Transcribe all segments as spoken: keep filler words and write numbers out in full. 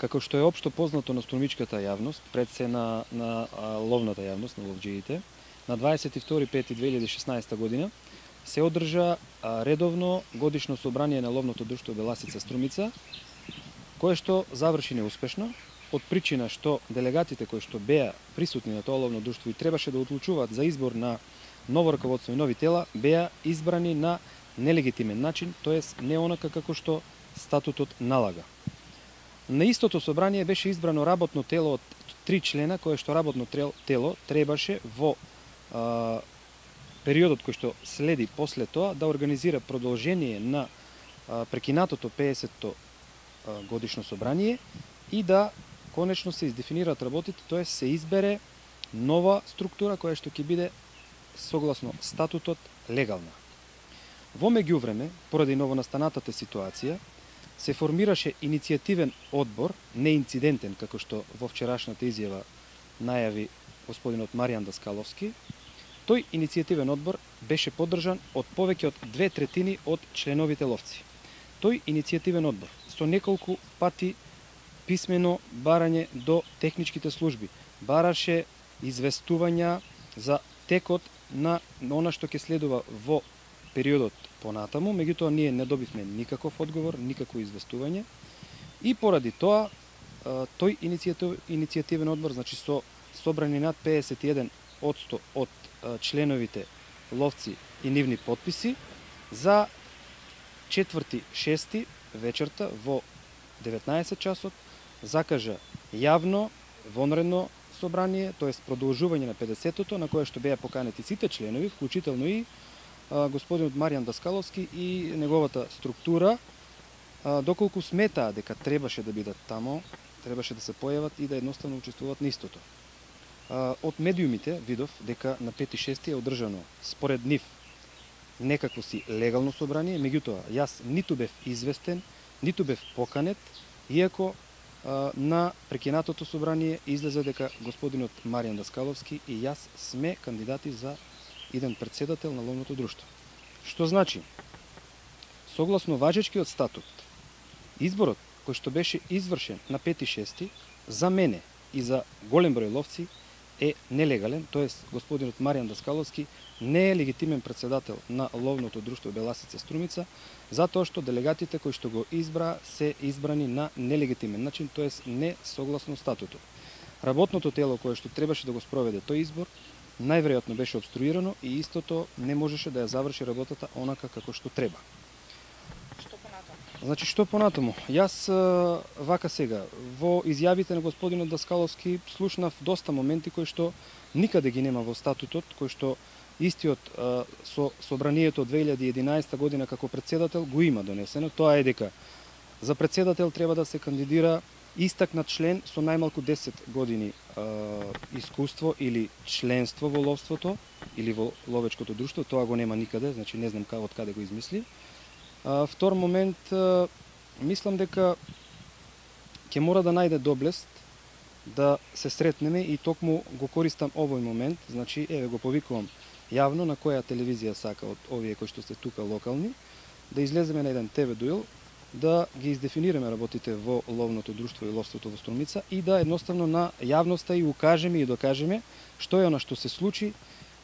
Како што е општо познато на струмичката јавност, пред се на, на а, ловната јавност, на ловџиите, на дваесет и втори пети две илјади и шеснаесета година се одржа а, редовно годишно собрание на ловното друштво Беласица Струмица, кое што заврши неуспешно, од причина што делегатите кои што беа присутни на тоа ловно друштво и требаше да одлучуваат за избор на ново раководство и нови тела, беа избрани на нелегитимен начин, тоест не онака како што статутот налага. На истото собрание беше избрано работно тело од три члена, кое што работно тело требаше во а, периодот кој што следи после тоа да организира продолжение на а, прекинатото пеесетто годишно собрание и да конечно се издефинираат работите, тоа се избере нова структура која што ќе биде согласно статутот легална. Во меѓувреме, поради новонастанатата ситуација, се формираше иницијативен одбор, неинцидентен, како што во вчерашната изјава најави господинот Маријан Даскаловски. Тој иницијативен одбор беше поддржан од повеќе од две третини од членовите ловци. Тој иницијативен одбор со неколку пати писмено барање до техничките служби бараше известувања за текот на она што ќе следува во периодот понатаму, меѓутоа ние не добивме никаков одговор, никакво известување и поради тоа тој иницијатив, иницијативен одбор, значи со собрани над пеесет и еден одсто од членовите ловци и нивни потписи, за четврти шести вечерта во деветнаесет часот закажа јавно вонредно собрание, тоест продолжување на педесетото, на кое што беа поканети сите членови, вклучително и а, господинот Маријан Даскаловски и неговата структура, а, доколку сметаа дека требаше да бидат тамо, требаше да се појават и да едноставно учествуваат на истото. А, од медиумите видов дека на пети шести е одржано според нив некакво си легално собрание, меѓутоа јас ниту бев известен, ниту бев поканет, иако а, на прекинатото собрание излезе дека господинот Маријан Даскаловски и јас сме кандидати за иден председател на ловното друштво. Што значи, согласно важечкиот статут, изборот кој што беше извршен на пети шести за мене и за голем број ловци е нелегален, тоест господинот Маријан Даскаловски не е легитимен председател на ловното друштво Беласица Струмица, затоа што делегатите кои што го избра се избрани на нелегитимен начин, тоест не согласно статутот. Работното тело кое што требаше да го спроведе тој избор, најверојатно беше обструирано и истото не можеше да ја заврши работата онака како што треба. Што понатаму? Значи, што понатаму? Јас вака сега, во изјавите на господинот Даскаловски слушнав доста моменти кои што никаде ги нема во статутот, кои што истиот а, со собранието две илјади и единаесета година како председател го има донесено. Тоа е дека за председател треба да се кандидира истакнат член со најмалку десет години а, искуство или членство во ловството или во ловечкото друштво. Тоа го нема никаде, значи не знам од каде го измисли. А, втор момент, а, мислам дека ќе мора да најде доблест да се сретнеме и токму го користам овој момент, значи еве го повикувам јавно на која телевизија сака од овие кои што се тука локални, да излеземе на еден те ве дуел, да ги издефинираме работите во ловното друштво и ловството во Струмица и да едноставно на јавноста и укажеме и докажеме што е она што се случи,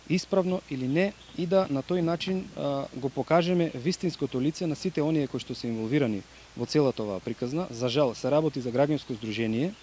исправно или не, и да на тој начин а, го покажеме вистинското лице на сите оние кои што се инволвирани во целата оваа приказна. За жал се работи за граѓанско здружение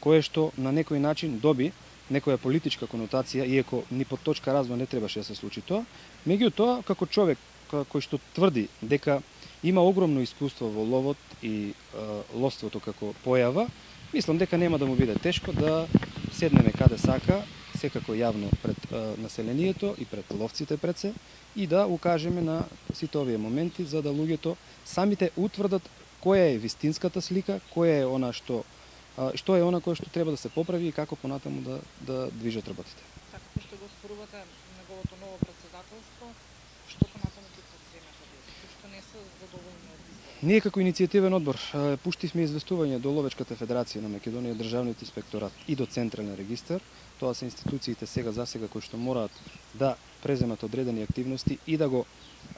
кое што на некој начин доби некоја политичка конотација, иако ни под точка развој не требаше да се случи тоа. Меѓутоа, како човек кој што тврди дека има огромно искуство во ловот и а, ловството како појава, мислам дека нема да му биде тешко да седнеме каде сака, секако јавно пред а, населението и пред ловците пред се, и да укажеме на сите овие моменти за да луѓето самите утврдат која е вистинската слика, која е она што а, што е она кое што треба да се поправи и како понатаму да да движат работите. Така како што го спорувате неговото ново председателство, што понатаму ќе предприемете вие? Што не се задоволни од изборот? Ние како иницијативен одбор пуштивме известување до Ловечката федерација на Македонија, Државниот инспекторат и до Централен регистар. Тоа се институциите сега за сега кои што мораат да преземат одредени активности и да го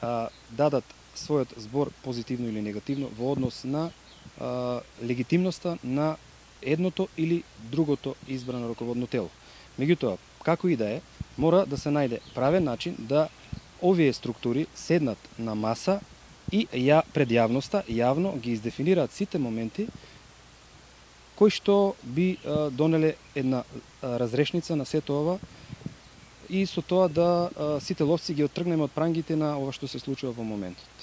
а, дадат својот збор позитивно или негативно во однос на а, легитимноста на едното или другото избрано раководно тело. Меѓутоа, како и да е, мора да се најде правен начин да овие структури седнат на маса и ја пред јавноста јавно ги издефинираат сите моменти кои што би а, донеле една а, разрешница на сето ова и со тоа да а, сите ловци ги оттргнеме од прангите на ова што се случува во моментот.